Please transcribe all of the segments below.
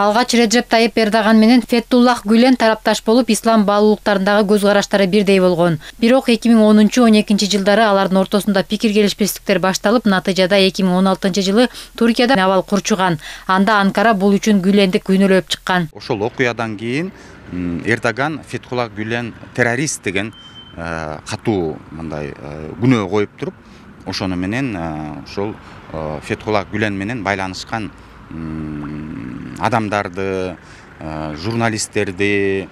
Алгач Реджеп Тайип Эрдоган менен Фетуллах Гүлен тарапташ болуп, ислам баалуулуктарындагы көз караштары бирдей болгон. Бирок 2010-12 жылдары алардын ортосунда пикир келишпестиктер башталып, натыйжада 2016 жылы Туркияда абал курчуган. Анда Анкара бул үчүн Гүленди күнөөлөп чыккан. Ошол окуядан кийин Эрдоган Фетуллах Гүлен террорист деген катуу мындай күнөө коюп туруп, ошону менен ошол Фетуллах Гүлен менен байланышкан адамдарды, журналисттерди,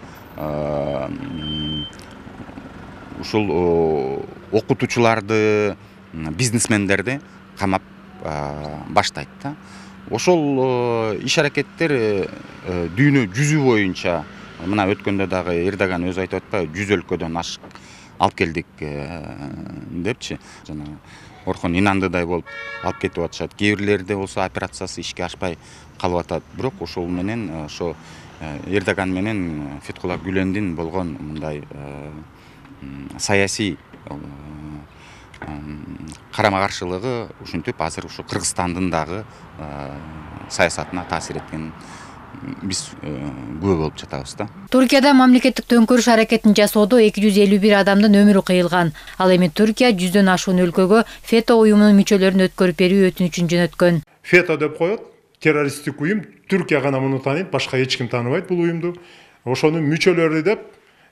ушул окутуучуларды, бизнесмендерди камап баштайт да. Ошол иш-аракеттер дүйнө жүзү боюнча, мына өткөндө дагы Эрдоган өзү айтып атпайбы, 100 өлкөдөн ашык алып келдик депчи. Жана Орхон инандыдай болуп алып кетип атышат. Кээ бирлерде болсо операциясы ишке ашпай калып атат. Бирок ошол менен ошо Эрдоган менен Фетуллах Гүлендин болгон мындай саясий карама-каршылыгы ушинтип азыр ушу Кыргызстандын дагы саясатына таасир эткенин биз күбө болуп жатабыз да. Туркияда мамлекеттик төңкөрүш аракетин жасоодо 251 адамдын өмүрү кыйылган. Ал эми Туркия 100дөн ашуун өлкөгө ФЕТО уюмунун мүчөлөрүн өткөрүп берүү өтүнүчүн жөнөткөн. ФЕТО деп коет, террористтик уюм, Түркия гана муну тааныйт, башка эч ким тааныбайт бул уюмду. Ошонун мүчөлөрү деп,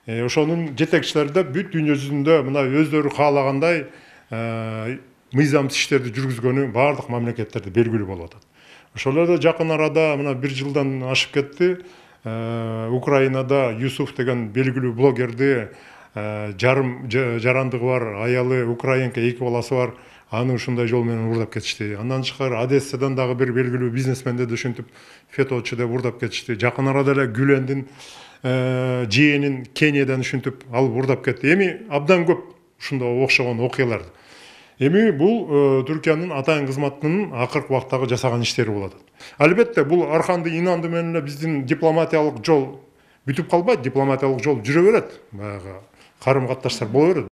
ошонун жетекчилери деп бүт дүйнө жүзүндө мына өздөрү каалагандай мыйзамсыз иштерди жүргүзгөнү баардык мамлекеттерде белгилүү болуп атат. Ошолордо жакын арада мына 1 жылдан ашып кетти. Украинада Юсуф деген белгилүү блогерди жарандыгы бар аялы украинка 2 баласы бар, аны ушундай жол менен урдап кетишти. Андан тышкары Одессадан дагы бир белгилүү бизнесменди ушинтип феточу деп урдап кетишти. Жакын арада эле Гүлендин жээнин Кениядан ушинтип алып урдап кетти. Эми абдан көп ушундай окшогон окуялар. Эми бул Түркиянын атайын кызматынын акыркы убактагы жасаган иштери болот. Албетте бул арканды инанды менен эле биздин дипломатиялык жол бүтүп калбайт, дипломатиялык жол жүрө берет. Баягы карым-катташтар боло берет.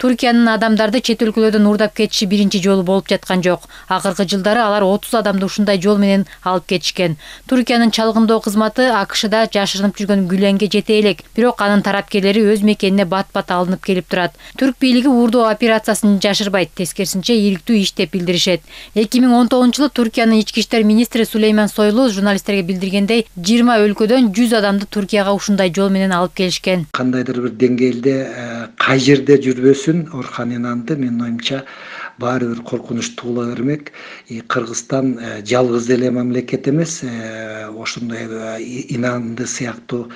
Туркиянын адамдарды чет өлкөлөрдөн урдап кетиши биринчи жолу болуп жаткан жок. Акыркы жылдары алар 30 адамды ушундай жол менен алып кетишкен. Туркиянын чалгындоо кызматы АКШда жашырынып жүргөн Гүленге жете элек, бирок анын тарапкерлери өз мекенине бат-бат алынып келип турат. Түрк бийлиги уурдоо операциясын жашырбайт, тескерисинче ийриктүү иш деп билдиришет. 2019 жылы Туркиянын ички иштер министри Сулейман Сойлу журналисттерге билдиргендей, 20 өлкөдөн 100 адамды Туркияга ушундай жол менен алып келишкен. Кандайдыр бир деңгээлде кай жерде жүрбөсүн Орхан инанды, менин оюмча баары бир коркунуч туула бермек. Кыргызстан жалгыз эле мамлекет эмес, ошондой инанды сыяктуу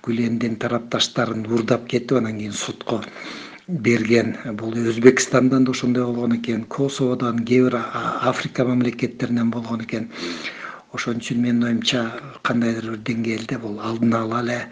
Гүлендин тарапташтарын урдап кетип, анан кийин сотко берген. Бул Өзбекстандан да ошондой болгон экен, Косоводон, кээ бир Африка мамлекеттеринен болгон экен. Ошон үчүн менин оюмча кандайдыр бир деңгээлде бул алдын ала эле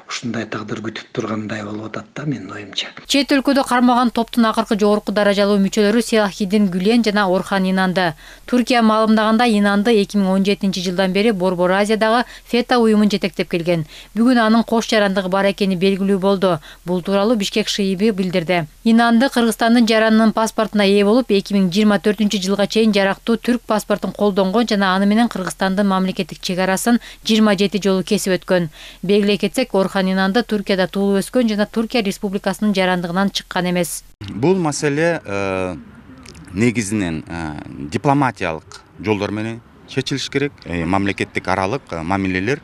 ушундай тагдыр күтүп тургандай болуп атат да, менин оюмча. Чет өлкөдө кармаган топтун акыркы жогорку даражалуу мүчөлөрү Селахиддин Гүлен жана Орхан Инанды. Туркия маалымдаганда Инанды 2017 жылдан бери Борбор Азиядагы ФЕТО уюмун жетектеп келген. Бүгүн анын кош жарандыгы бар экени белгилүү болду. Бул тууралуу Бишкек ШИИБи билдирди. Инанды Кыргызстандын жаранынын паспортуна ээ болуп, 2024 жылга чейин жарактуу түрк паспортун колдонгон жана аны менен Кыргызстандын мамлекеттик чек арасын 27 жолу кесип өткөн. Белгилей кетсек, Орхан Инанды Туркияда туулуп өскөн жана Туркия Республикасынын жарандыгынан чыккан эмес. Бул маселе негизинен дипломатиялык жолдор менен чечилиш керек. Мамлекеттик аралык мамилелер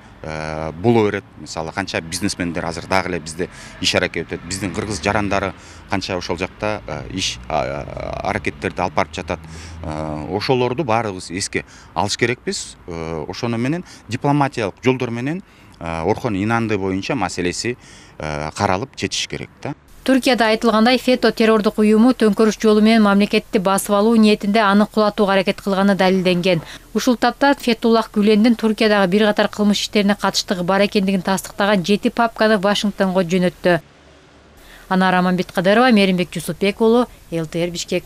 боло берет. Мисалы, канча бизнесмендер азыр дагы эле бизде иш аракет өтөт. Биздин кыргыз жарандары канча ошол жакта иш аракеттерди алып барып жатат. Ошолорду баарыбыз эске алыш керекпиз. Ошону менен дипломатиялык жолдор менен Орхон Инанды боюнча маселеси каралып чечиш керек да. Туркияда айтылгандай, ФЕТО террордук уюму төңкөрүш жолу менен мамлекетти басып алуу ниетинде аны кулатууга аракет кылганы далилденген. Ушул тапта Фетуллах Гүлендин Туркиядагы бир катар кылмыш иштерине катыштыгы бар экендигин тастыктаган 7 папканы Вашингтонго жөнөттү. Анара Мамбеткадырова, Меримбек Жусупбек уулу, ЛТР Бишкек.